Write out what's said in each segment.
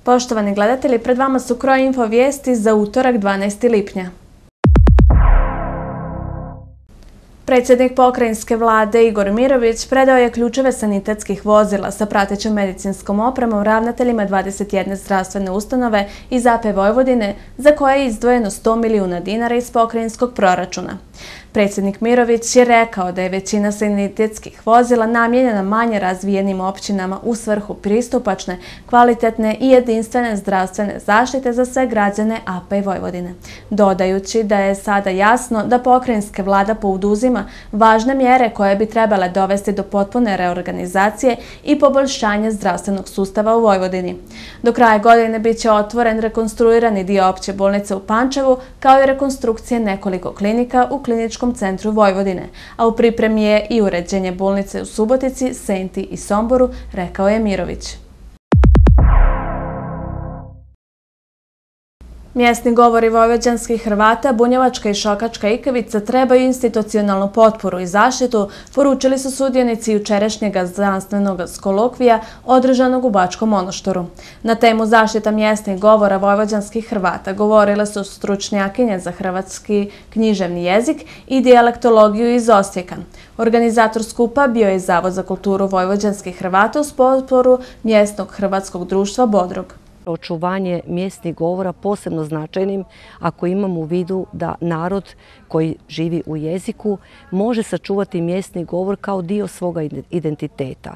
Poštovani gledatelji, pred vama su kroj info vijesti za utorak 12. lipnja. Predsjednik pokrajinske vlade Igor Mirović predao je ključeve sanitetskih vozila sa pratećom medicinskom opremom ravnateljima 21 zdravstvene ustanove iz AP Vojvodine za koje je izdvojeno 100 milijuna dinara iz pokrajinskog proračuna. Predsjednik Mirović je rekao da je većina sanitetskih vozila namijenjena manje razvijenim općinama u svrhu pristupačne, kvalitetne i jedinstvene zdravstvene zaštite za sve građane AP Vojvodine. Dodajući da je sada jasno da pokrajinska vlada poduzima važne mjere koje bi trebale dovesti do potpune reorganizacije i poboljšanja zdravstvenog sustava u Vojvodini. Do kraja godine bit će otvoren rekonstruirani dio opće bolnice u Pančevu, kao i rekonstrukcije nekoliko klinika u Kliničkom centru Vojvodine, a u pripremi je i uređenje bolnice u Subotici, Senti i Somboru, rekao je Mirović. Mjesni govori vojvođanskih Hrvata, bunjevačka i šokačka ikavica trebaju institucionalnu potporu i zaštitu, poručili su sudionici jučerašnjeg znanstvenog kolokvija održanog u Bačkom Monoštoru. Na temu zaštita mjesnih govora vojvođanskih Hrvata govorile su stručnjakinje za hrvatski književni jezik i dijalektologiju iz Osijeka. Organizator skupa bio je Zavod za kulturu vojvođanskih Hrvata uz potporu mjesnog hrvatskog društva Bodrog. Očuvanje mjesnih govora posebno značajnim ako imamo u vidu da narod koji živi u jeziku može sačuvati mjesni govor kao dio svoga identiteta.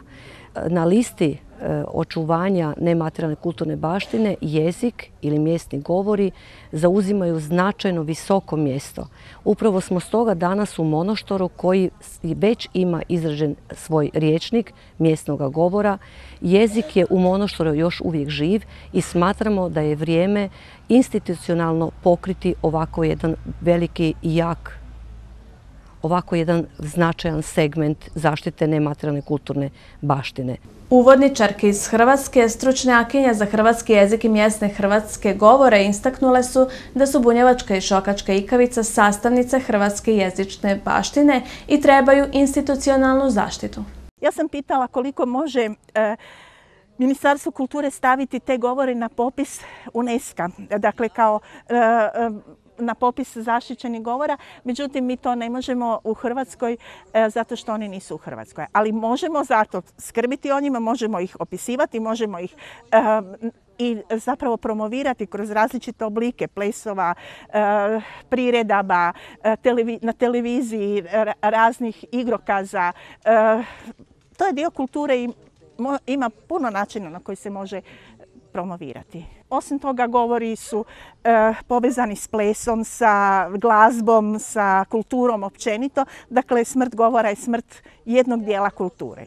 Na listi očuvanja nematerijalne kulturne baštine jezik ili mjesni govori zauzimaju značajno visoko mjesto. Upravo smo stoga danas u Monoštoru koji već ima izražen svoj rječnik mjesnog govora. Jezik je u Monoštoru još uvijek živ i smatramo da je vrijeme institucionalno pokriti ovako jedan veliki i jak, ovako jedan značajan segment zaštite nematerijalne kulturne baštine. Uvodničarke iz Hrvatske, stručnjakinja za hrvatski jezik i mjesne hrvatske govore istaknule su da su bunjevačka i šokačka ikavica sastavnice hrvatske jezične baštine i trebaju institucionalnu zaštitu. Ja sam pitala koliko može Ministarstvo kulture staviti te govore na popis UNESCO-a, dakle kao na popis zaštićenih govora, međutim mi to ne možemo u Hrvatskoj zato što oni nisu u Hrvatskoj. Ali možemo zato skrbiti o njima, možemo ih opisivati, možemo ih i zapravo promovirati kroz različite oblike plesova, priredaba, na televiziji, raznih igrokaza. To je dio kulture i ima puno načina na koji se može promovirati. Osim toga, govori su povezani s plesom, sa glazbom, sa kulturom općenito. Dakle, smrt govora je smrt jednog dijela kulture.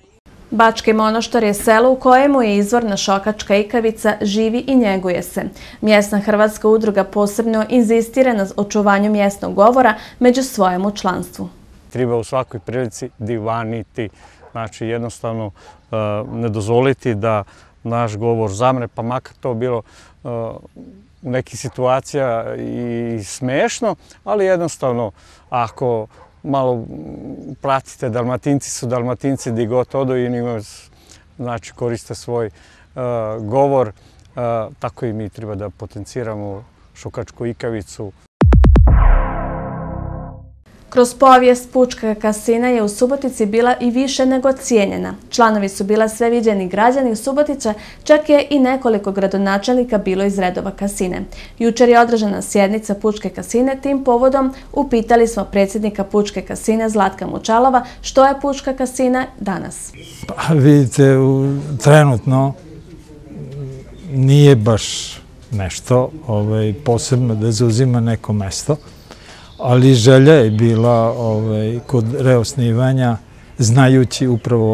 Bački Monoštor je selo u kojemu je izvorna šokačka ikavica, živi i njeguje se. Mjesna hrvatska udruga posebno inzistira na očuvanju mjesnog govora među svojemu članstvu. Treba u svakoj prilici divaniti, znači jednostavno ne dozvoliti da naš govor zamre, pa makar to bilo u nekih situacija i smiješno, ali jednostavno ako malo pratite, Dalmatinci su Dalmatinci gdje god odu i imaju, znači koriste svoj govor, tako i mi treba da potenciramo šokačku ikavicu. Kroz povijest pučka kasina je u Subotici bila i više nego cijenjena. Članovi su bila sve viđeni građani Subotića, čak je i nekoliko gradonačelnika bilo iz redova kasine. Jučer je održana sjednica pučke kasine, tim povodom upitali smo predsjednika pučke kasine Zlatka Mučalova što je pučka kasina danas. Pa vidite, trenutno nije baš nešto posebno da zauzima neko mesto. Ali želja je bila kod reosnivanja, znajući upravo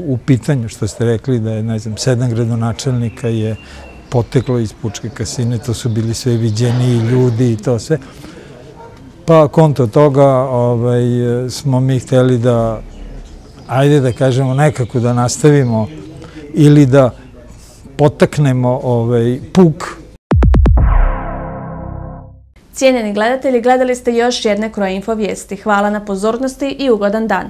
u pitanju što ste rekli da je, 7 gradonačelnika je poteklo iz pučke kasine, to su bili sve viđeniji ljudi i to sve. Pa konto toga smo mi htjeli da, ajde da kažemo, nekako da nastavimo ili da potaknemo puk. Cijenjeni gledatelji, gledali ste još jedne Kroinfo vijesti. Hvala na pozornosti i ugodan dan.